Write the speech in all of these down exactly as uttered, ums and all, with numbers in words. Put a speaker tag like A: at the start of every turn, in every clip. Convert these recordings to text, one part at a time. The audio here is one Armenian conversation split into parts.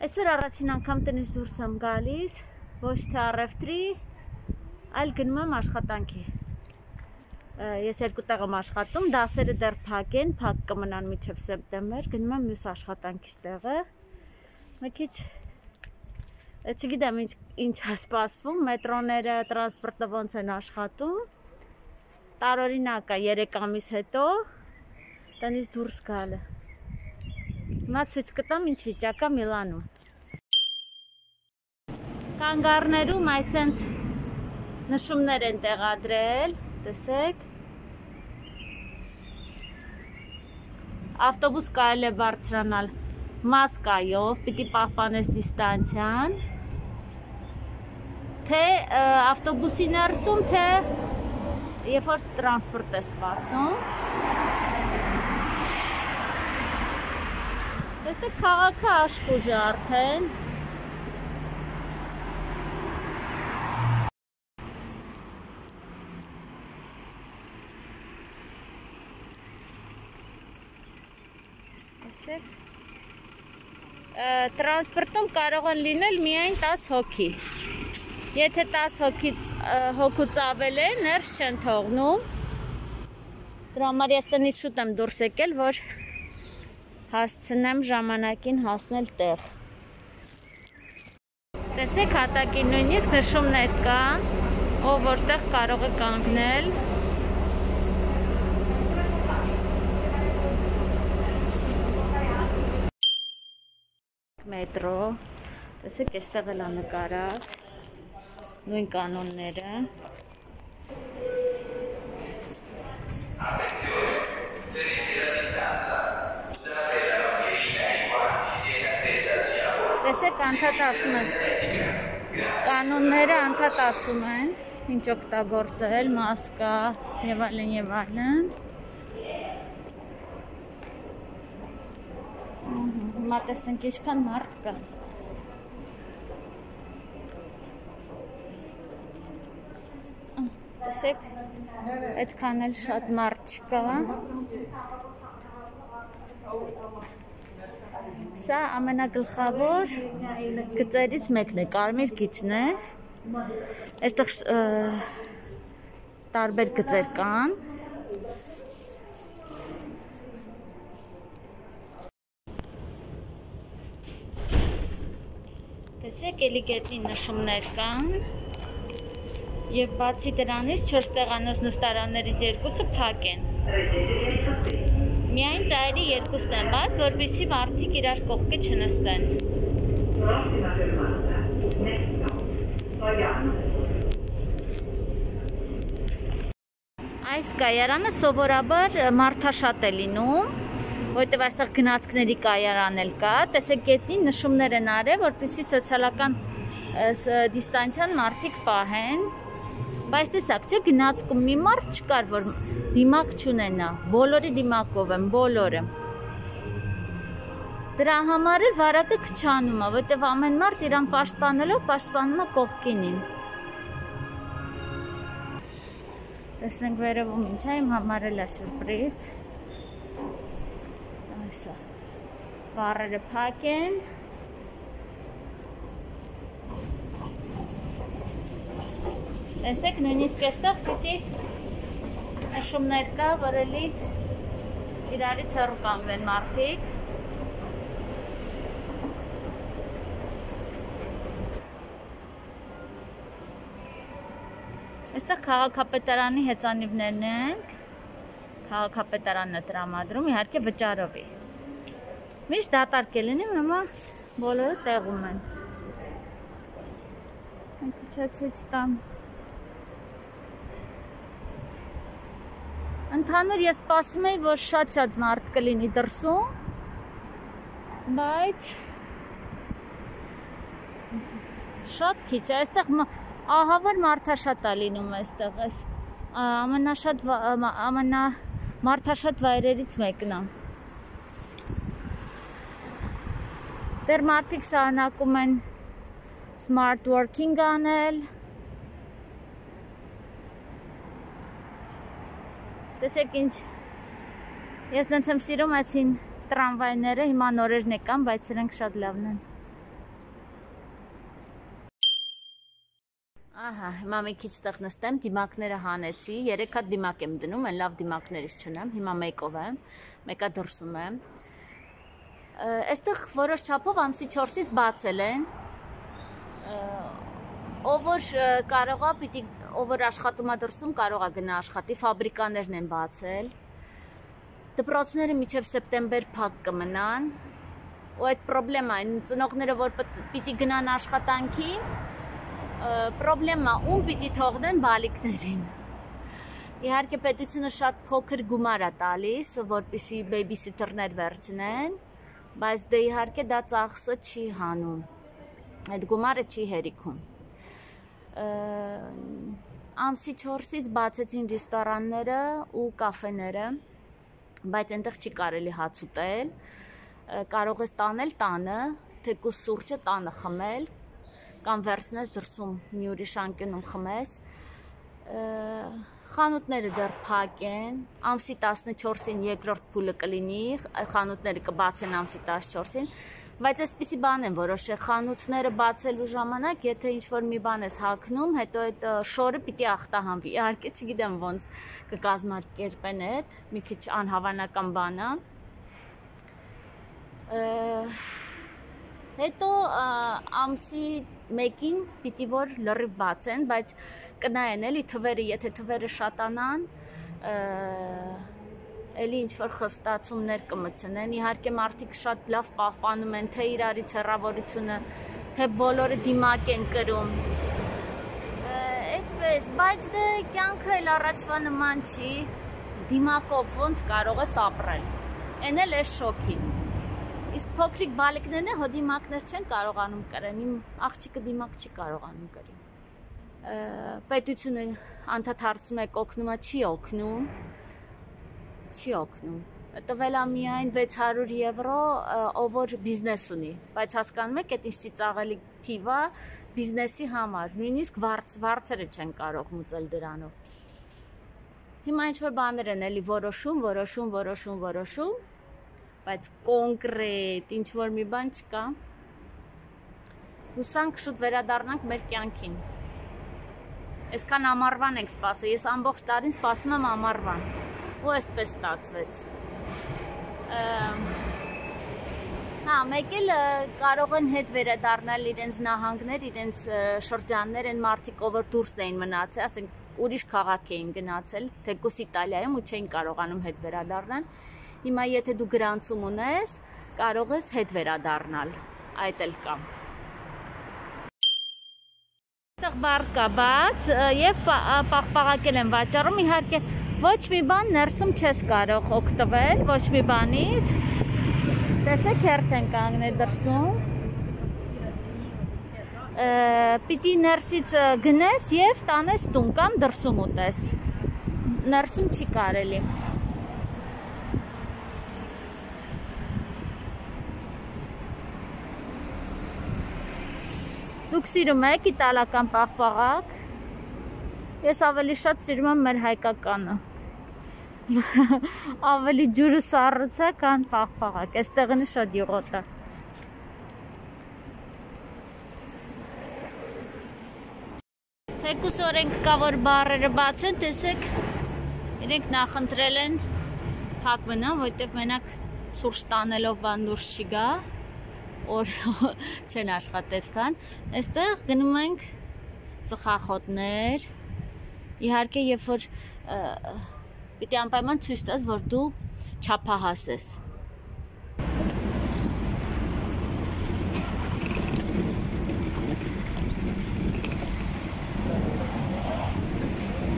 A: Այսօր առաջին անգամ տնից դուրս եմ գալիս, ոչ թե առևտրի, այլ գնում եմ աշխատանքի։ Ես երկու տեղ եմ աշխատում, դասերը դեռ փակ են, փակ կմնան մինչև սեպտեմբեր, գնում եմ մյուս աշխատանքիս տեղը։ Մի քիչ չգիտեմ ինչ է սպասվում, մետրոները, տրանսպորտը ոնց են աշխատում։ Տարօրինակ է երեք ամիս հետո տնից դուրս գալը։ Հիմա ցույց կտամ ինչ վիճակ է Միլանում։ Կանգառներում այսենց նշումներ են տեղադրել, տեսեք։ Ավտոբուս կարելի է բարձրանալ մասկայով, պիտի պահպանես դիստանցիան, թե ավտոբուսի ներսում, թե երբ որ տրանսպորտ է սպասում։ Տեսեք, քաղաքը աշխուժ է արդեն։ Տեսեք, տրանսպորտում կարող են լինել միայն տասը հոգի։ Եթե տասը հոգուց ավել է, ներս չեն թողնում։ Դրա համար ես տնից շուտ եմ դուրս եկել, որ հասցնեմ ժամանակին հասնել տեղ։ Տեսեք, հատակին նույնիսկ նշումներ կան, ով որտեղ կարող է կանգնել։ Մետրո, տեսեք, այստեղ էլ է նկարած, նույն կանոնները։ Տեսեք, անդադ ասում են, կանոնները անդադ ասում են, ինչ օգտագործել, մասկա և այլն և այլն։ Հիմա տեսնենք ինչքան մարդ կա։ Տեսեք, այդքան էլ շատ մարդ չկա։ Սա ամենագլխավոր գծերից մեկն է, կարմիր գիծն է։ Այստեղ տարբեր գծեր կան։ Տեսեք, էլի գետնի նշումներ կան։ Եվ բացի դրանից չորս տեղանոց նստարաններից երկուսը փակ են։ Միայն ծայրի երկուսն են բաց, որպեսզի մարդիկ իրար կողքի չնստեն։ Այս կայարանը սովորաբար մարդաշատ է լինում, որտեղ այստեղ գնացքների կայարան էլ կա, տեսեք գետնին նշումներ են արել, որպեսզի սոցիալական դիստանցիան մարդիկ պահեն, բայց տեսակ չէ, գնացքում մի մարդ չկար, որ դիմակ չունենա, բոլորի դիմակով են, բոլորը։ Դրա համար էլ վարակը քչանում է, որտեղ ամեն մարդ իրան պաշտպանելով, պաշտպանում է կողքինին։ Տեսնենք վերևում ինչ է, իմ համար էլ է սուրպրիզ։ Այսա, վառերը փակ են։ Տեսեք, նույնիսկ այստեղ պիտի նշումներ կա, որ էլի իրարից հեռու կանգնեն մարդիկ։ Այստեղ քաղաքապետարանի հեծանիվներն են, քաղաքապետարանն է տրամադրում, իհարկե վճարովի։ Միշտ դատարկ է լինի, հիմա բոլորը տեղում են։ Քիչ տամ։ Ընդհանուր ես սպասում էի, որ շատ-շատ մարդ կլինի դրսում, բայց շատ քիչ է, այստեղ ահավոր մարդաշատ է լինում այստեղ, ամենամարդաշատ վայրերից մեկն է։ Դեռ մարդիկ շարունակում են smart working անել։ Տեսեք ինչ, ես նենց եմ սիրում այսին տրամվայները, հիմա նորերն եկան, բայց սրանք շատ լավն են։ Ահա, հիմա մի քիչ տեղ նստեմ, դիմակները հանեցի, երեք հատ դիմակ եմ դնում, այն լավ դիմակներից չունեմ, հիմա մեկով եմ, մեկը դրսում եմ։ Այստեղ որոշ չափով ամսի չորսից բացել են, ով որ կարող է, պիտի, ով որ աշխատում է դրսում, կարող է գնա աշխատի, ֆաբրիկաներն են բացել, դպրոցները մինչև սեպտեմբեր փակ կմնան, ու այդ պրոբլեմա այն ծնողները, որ պիտի գնան աշխատանքի, պրոբլեմա ում պիտի թողնեն բալիկներին։ Իհարկե պետությունը շատ փոքր գումար է տալիս, որպեսզի բեյբիսիթերներ վերցնեն, բայց դե իհարկե դա ծախսը չի հանում, այդ գումարը չի հերիքում։ Ամսի չորսից բացեցին ռեստորանները ու կաֆեները, բայց այնտեղ չի կարելի հաց ուտել, կարող ես տանել տանը, թեկուզ սուրճը տանը խմել, կամ վերցնես դրսում մի ուրիշ անկյունում խմես, խանութները դեռ փակ են, ամսի տասնչորսին երկրորդ փուլը կլինի, խանութները կբացեն ամսի տասնչորսին, բայց այսպիսի բան են որոշել, խանութները բացելու ժամանակ, եթե ինչ-որ մի բան ես հագնում, հետո այդ շորը պիտի ախտահանվի, իհարկե չգիտեմ ոնց կկազմակերպեն այդ, մի քիչ անհավանական բան է։ Հետո ամսի մեկին պիտի որ լրիվ բացեն, բայց կնայեն էլի թվերը, եթե թվերը շատանան, էլի ինչ-որ խստացումներ կմցնեն, իհարկե մարդիկ շատ լավ պահպանում են, թե իրարից հեռավորությունը, թե բոլորը դիմակ են կրում, այդպես, բայց դե կյանքը էլ առաջվա նման չի, դիմակով ոնց կարող ես ապրել, են էլ ես շոքին։ Իսկ փոքրիկ բալիկներն է, հո դիմակներ չեն կարողանում կրեն, իմ աղջիկը դիմակ չի կարողանում կրի։ Պետությունը անդադ հարցում է օգնում է, չի օգնում, չի օգնում։ Տվել է միայն վեց հարյուր եվրո, ով որ բիզնես ունի, բայց հասկանում եք, այդ ինչ ծիծաղելի թիվ է բիզնեսի համար, նույնիսկ վարձերը չեն կարող մուծել դրանով։ Հիմա ինչ-որ բաներ են էլի որոշում, որոշում, որոշում, որոշում, բայց կոնկրետ ինչ-որ մի բան չկա, հուսանք շուտ վերադառնանք մեր կյանքին, այսքան ամառվան ենք սպասել, ես ամբողջ տարին սպասում եմ ամառվան, ու այսպես ստացվեց, հա, մեկ էլ կարող են հետ վերադառնալ իրենց նահանգներ, իրենց շրջաններ, են մարդիկ, ով որ դուրսն էին մնացել, ասենք ուրիշ քաղաք էին գնացել, թեկուզ Իտալիայում ու չէին կարողանում հետ վերադառնալ, հիմա եթե դու գրանցում ունես, կարող ես հետ վերադառնալ, այդ էլ կա։ Այդտեղ բար կա բաց և պաղպաղակել են վաճառում, իհարկե ոչ մի բան ներսում չես կարող օգտվել, ոչ մի բանից, տեսեք հերթ են կանգնել դրսում, պիտի ներսից գնես և տանես տուն կամ դրսում ուտես, ներսում չի կարելի։ Դուք սիրում եք իտալական պաղպաղակ, ես ավելի շատ սիրում եմ մեր հայկականը, ավելի ջուրը սառույց է, քան պաղպաղակ, այստեղն է շատ յուղոտ է։ Թեկուզ օրենք կա, որ բարերը բաց են, տեսեք, իրենք նախընտրել են փակ մնան, որտև մենակ սուրճ տանելով բան դուրս չի գա, որ չեն աշխատել կան, այստեղ գնում ենք ծխախոտներ, իհարկե երբ որ պիտի անպայման ցույց տաս, որ դու չափահաս ես։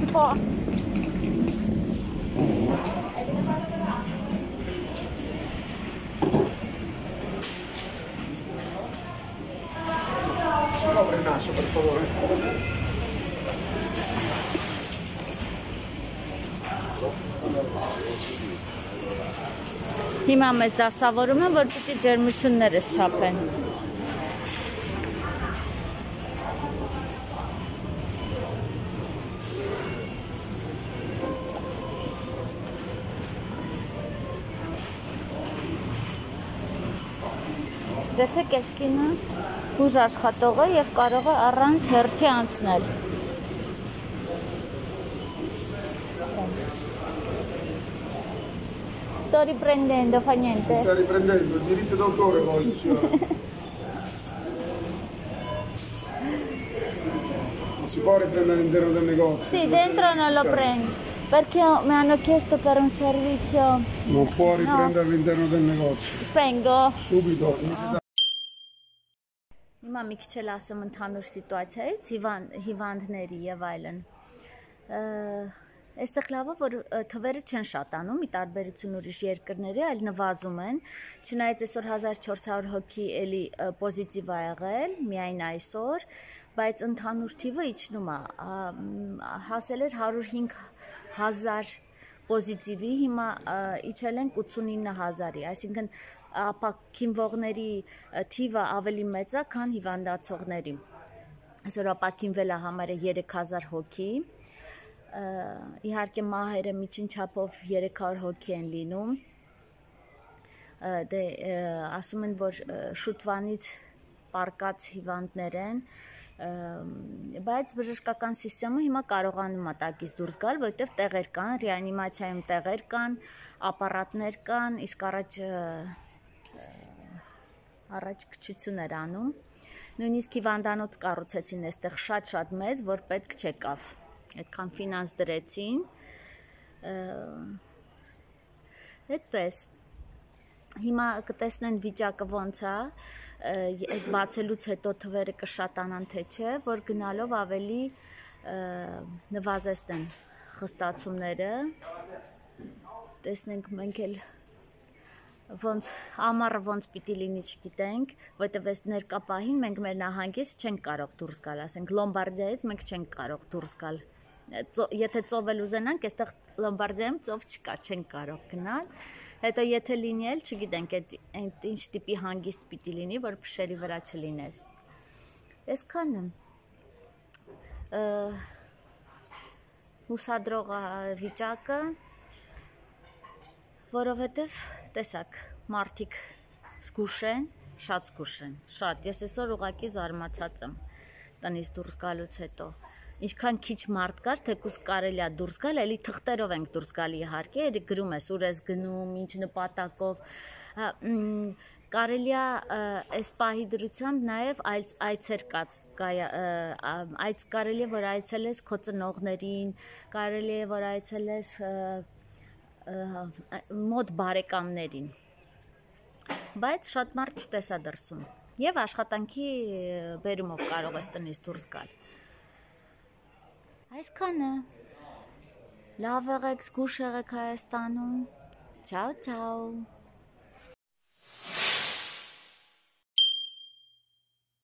A: Սպա
B: Per favore.
A: Հիմա մեզ դասավորում են, որ պիտի ջերմությունները շապեն։ Տեսեք, այս կինը ուժ աշխատող է և կարող է առանց հերթի անցնել։ sto riprendendo, fa niente.
B: Mi sta riprendendo, il diritto d'autore poi, signora. Non si può riprendere all'interno del negozio.
A: Sì, dentro non lo prendo, perché mi hanno chiesto per un servizio.
B: Non può riprendere no. all'interno del negozio.
A: Spengo.
B: Subito.
A: Հիմա մի քիչ էլ ասեմ ընդհանուր սիտուացիայից, հիվանդների եւ այլն։ Այստեղ լավը, որ թվերը չեն շատանում, ի տարբերություն ուրիշ երկրների, այլ նվազում են, չնայած այսօր հազար չորս հարյուր հոգի էլի պոզիտիվ ա եղել, միայն այսօր, բայց ընդհանուր թիվը իջնում է, հասել էր հարյուր հինգ հազար պոզիտիվի, հիմա իջել ենք ութսունինը հազարի, այսինքն ապաքինվողների թիվը ավելի մեծ է, քան հիվանդացողների։ Այսօր ապաքինվել է համարը երեք հազար հոգի, իհարկե մահերը միջին չափով երեք հարյուր հոգի են լինում, դե ասում են, որ շուտվանից պարկած հիվանդներ են, բայց բժշկական սիստեմը հիմա կարողանում է տակից դուրս գալ, որովհետև տեղեր կան, ռեանիմացիայում տեղեր կան, ապարատներ կան, իսկ առաջ առաջ քչություն էր անում, նույնիսկ հիվանդանոց կառուցեցին այստեղ շատ-շատ մեծ, որ պետք չեկավ, այդքան ֆինանս դրեցին, այդպես, հիմա կտեսնեն վիճակը ոնց է, այս բացելուց հետո թվերը կշատանան թե չէ, որ գնալով ավելի նվազեցնեն խստացումները, տեսնենք մենք էլ ոնց ամառը ոնց պիտի լինի չգիտենք, որտեվ այս ներկա պահին մենք մեր նահանգից չենք կարող դուրս գալ, ասենք Լոմբարդիայից մենք չենք կարող դուրս գալ, եթե ծով էլ ուզենանք, այստեղ Լոմբարդիայում ծով չկա, չենք կարող գնալ, հետո եթե լինի էլ չգիտենք այդ ինչ տիպի հանգիստ պիտի լինի, որ փշերի վրա չլինես, այսքանը հուսադրող վիճակը, որովհետև տեսակ, մարդիկ զգուշ են, շատ զգուշ են, շատ, ես այսօր ուղղակի զարմացած եմ տնից դուրս գալուց հետո, ինչքան քիչ մարդ կար, թեկուզ կարելի է դուրս գալ, էլի թղթերով ենք դուրս գալի իհարկե, էլի գրում ես, ուր ես գնում, ինչ նպատակով, կարելի է այս պահի դրությամբ նաև այցեր կաց, այց կարելի է, որ այցելես քո ծնողներին, կարելի է, որ այցելես մոտ բարեկամներին, բայց շատ մարդ չտեսա դրսում և աշխատանքի բերումով կարող ես տնից դուրս գալ։ Այսքանը, լավ եղեք, զգուշ եղեք Հայաստանում, չաու չաու։